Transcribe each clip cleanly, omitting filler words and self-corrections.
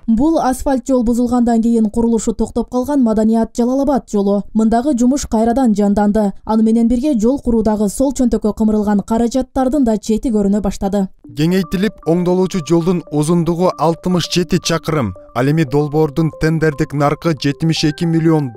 Бул асфальт жол бузулгандан кийин курулушу токтоп калган Маданият Жалал-Абад жолу. Мындагы жумуш кайрадан жанданды. Аны менен бирге жол куруудагы сол чөнтөккө кымырылган каражаттардын да чети көрүнө баштады. Кеңейтилип оңдолуучу жолдун узундугу 67 чакырым. Ал эми долбоордун тендердик наркы $72 миллион.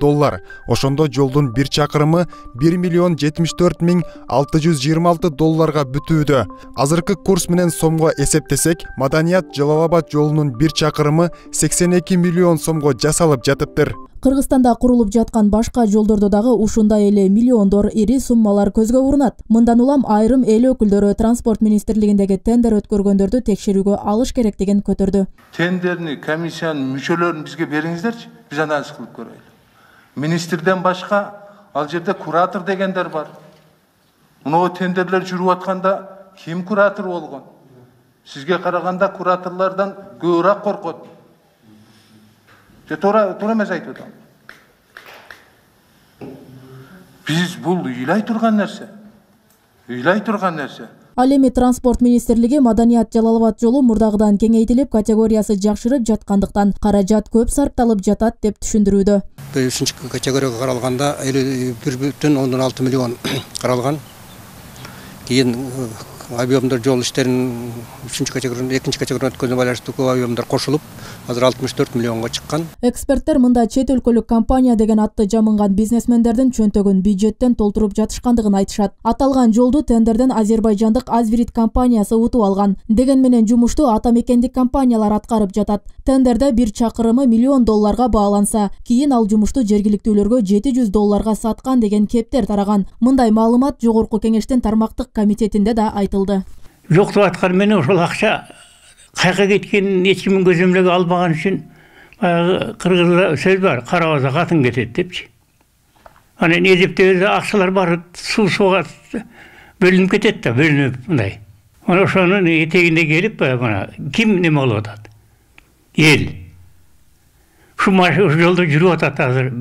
Ошондо жолдун 1 чакырымы $1,74,626 бүтүүдө. Азыркы курс менен сомго эсептесек, Маданият Жалал-Абад жолунун 1 чакырымы $82 миллион жасалып жатыптыр. Кыргызстанда курулуп жаткан башка жолдордо дагы ушундай эле миллиондор ири суммалар көзгө урунат. Мындан улам айрым эл өкүлдөрү транспорт министрлигиндеги тендер өткөргөндөрдү текшерүүгө алыш керектигин көтөрдү. Тендерни комиссиянын мүчөлөрүн бизге бериңиздерчи, биз анализ кылып көрөлү. Министрден башка ал жерде куратор дегендер бар. Мына тендерлер жүрүп атканда ким куратор болгон? Сизге караганда кураторлордон көбүрөөк коркот. Туура эмес айтып атам. Биз бул ыйлай турган нерсе. Ал эми транспорт министрлиги Маданият Жалал-Абад жолу мурдагыдан кеңейтилип, категориясы жакшырып жаткандыктан каражат көп сарпталып жатат деп түшүндүрүүдө. 3 категорияга каралганда 51,6 миллион каралган. Кийин объемдор жол иштерин 2 категорияга өткөнгөнө байланыштуу көп объемдор кошулуп, азыр 64 миллионго чыккан. Эксперттер мында чет өлкөлүк компания деген атты жамынган бизнесмендердин чөнтөгүн бюджеттен толтуруп жатышкандыгын айтышат. Аталган жолду тендерден азербайжандык Азбирит компаниясы утуп алган. Деген менен жумушту ата мекендик компаниялар аткарып жатат. Тендерде 1 чакырымы $1 миллион бааланса, кийин ал жумушту жергиликтүүлөргө $700 саткан деген кептер тараган. Мындай маалымат Жогорку кеңештин тармактык комитетинде да айтылды. Жоктуп аткан менен ошол акча кайка кеткенин эч кимдин көзөмөлгө албаган үчүн кыргызда сөз бар, кара база катын кетет депчи. Анан эзептебеде акчалар баары сууга бөлүнүп кетет да, бөлүнүп мындай. Ana ошонун этегинде келип, мына ким неме кылып атат? Эл. Ушу жолдо жүрүп атат азыр.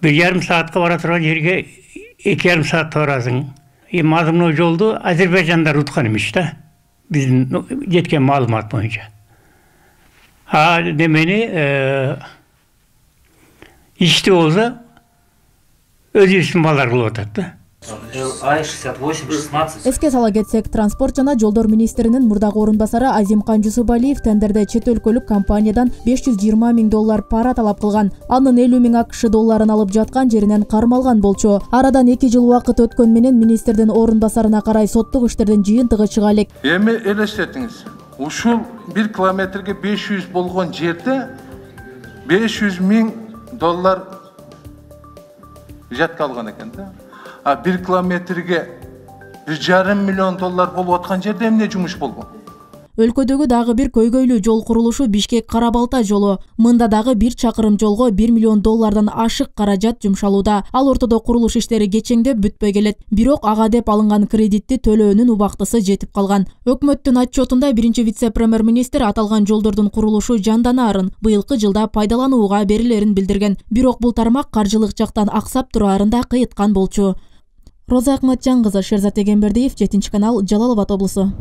1,5 саатка бара турган жерге 2,5 саатта барасың. Эми азыр жолду азербайжандар уткан эмес да. Биздин жеткен маалымат боюнча. Демени ишти болсо өзүбүздүн балдар кылып атат да. АИ-68-16. Эске сала кетсек, транспорт жана жолдор министринин мурдагы орун басары Азимкан Жусупалиев тендерде чет өлкөлүк компаниядан $520 миң пара талап кылган. Анын $50 миң АКШ алып жаткан жеринен кармалган болчу. Арадан 2 жыл убакыт өткөн менен министрдин орун басарына карай соттук иштердин жыйынтыгы чыга элек. Эми элестетиңиз. Ушул 1 километрге 500 болгон жерде $500 миң жатка алган экен да. 1 километрге $1,5 миллион болуп аткан жерде эмне жумуш болгон? Өлкөдөгү дагы бир көйгөйлүү жол курулушу Бишкек-Кара-Балта жолу. Мында дагы 1 чакырым жолго $1 миллион ашык каражат жумшалууда. Ал ортодо курулуш иштери кечеңдеп бүтпөй келет. Бирок ага деп алынган кредитти төлөөнүн убактысы жетип калган. Өкмөттүн отчетунда 1 вице-премьер-министр аталган жолдордун курулушу жанданаарын, быйылкы жылда пайдаланууга берилерин билдирген. Бирок бул тармак каржылык жактан аксап тураарын да кыйыткан болчу. Роза Акматжан кызы, Шерзат Эгембердиев, 7 канал, Жалал-Абад облусу.